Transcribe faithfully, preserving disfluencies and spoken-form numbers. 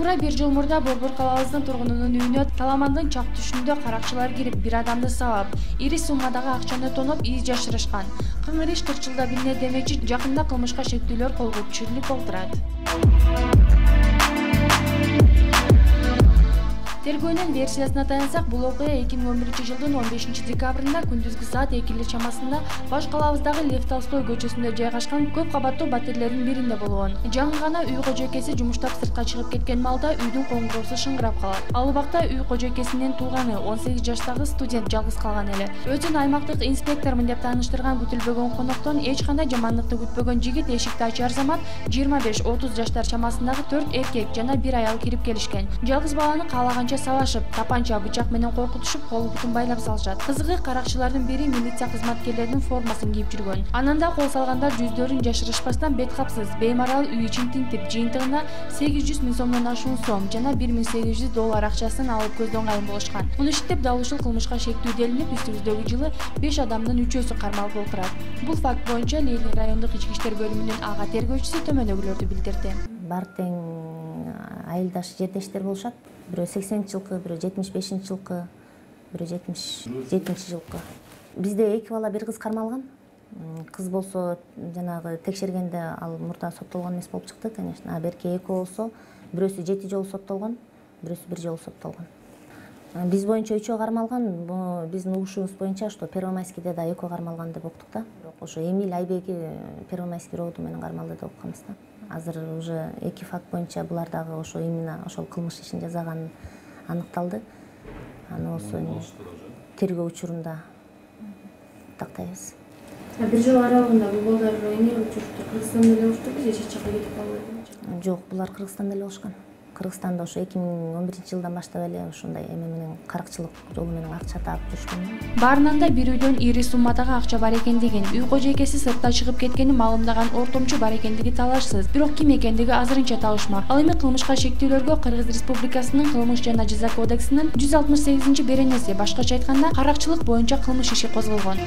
Туура бир жыл мурда Борбор калабыбыздын тургунунун үйүнө таламандын чак түшүндө каракчылар кирип, бир адамды сабап, ири суммадагы акчаны тоноп, из жашырышкан. Кыңыр иш кырк жылда билине демекчи, жакында кылмышка шектүүлөр колго түшүрүлүп олтурат. Тергөөнүн версиясына таянсак, бул окуя эки миң он биринчи жылдын он бешинчи декабрында күндүзгү саат экилер чамасында баш калабыбыздагы Лев Толстой көчөсүндө жайгашкан көп кабаттуу батирлердин биринде болгон. Жаңы гана үй кожойкеси жумуштап сыртка чыгып кеткен малда үйдүн коңгуроосу шыңгырап калат. Ал убакта үй кожойкесинин тууганы он сегиз жаштагы студент жалгыз калган эле. Өзүн аймактык инспектормун деп тааныштырган күтүлбөгөн коноктон эч кандай жамандыкты күтпөгөн жигит эшикти ачар замат жыйырма беш отуз жаштар чамасындагы төрт эркек жана бир аял кирип келишкен. Жалгыз баланы каалаганча сабашып, тапанча, бычак менен коркутушуп, кол бутун байлап салышат. Кызыгы, каракчылардын бири милиция кызматкерлеринин формасын кийип жүргөн. Анан да кол салгандар жүздөрүн жашырышпастан бет капсыз, беймарал үй ичин тинтип, жыйынтыгына сегиз жүз миң сомдон ашуун сом жана бир миң сегиз жүз доллар акчасын алып көздөн кайын болушкан. Муну иштеп дал ушул кылмышка шектүү делинип, үстүбүздөгү жылы беш адамдын үчөөсү кармалып отурат. Бул факт боюнча Ленин райондук ички иштер бөлүмүнүн ага тергөөчүсү төмөндөгүлөрдү билдирди. Бар тең айылдаш жердештер болушат. Бирөө сексенинчи жылкы, бирөө жетимиш бешинчи жылкы, бирөө жетимиш жетинчи жылкы. Бизде эки бала, бир кыз кармалган. Кыз болсо жанагы текшергенде ал мурда соттолгон эмес болуп чыкты, конечно. А берки экөө болсо, бирөөсү жети жолу соттолгон, бирөөсү бир жолу соттолгон. Биз боюнча үчөө кармалган, биздин угушубуз боюнча что Первомайскийде да экөө кармалган деп уктук да. Бирок ошо Эмиль Айбеги Первомайский роду менен кармалды деп укканбыз да. Азыр уже эки факт боюнча булар дагы ошо именно ошол кылмыш ишин жасаганы аныкталды. Аны болсо тергөө учурунда тактайбыз. Бир жыл аралыгында бул балдар эмне учурда Кыргызстанда эле болушту, же чет жакка кетип калды? Жок, булар Кыргызстанда эле болушкан. Кыргызстанда ошо эки миң он биринчи жылдан баштап эле ошондой эме менен каракчылык жолу менен акча таап жүрүшкөн. Баарынан да бир үйдөн ири суммадагы акча бар экендигин, үй кожойкеси сыртка чыгып кеткенин маалымдаган ортомчу бар экендиги талашсыз. Бирок ким экендиги азырынча табышмак. Ал эми кылмышка шектүүлөргө Кыргыз Республикасынын Кылмыш жана жаза кодексинин жүз алтымыш сегизинчи беренеси, башкача айтканда, каракчылык боюнча кылмыш иши козголгон.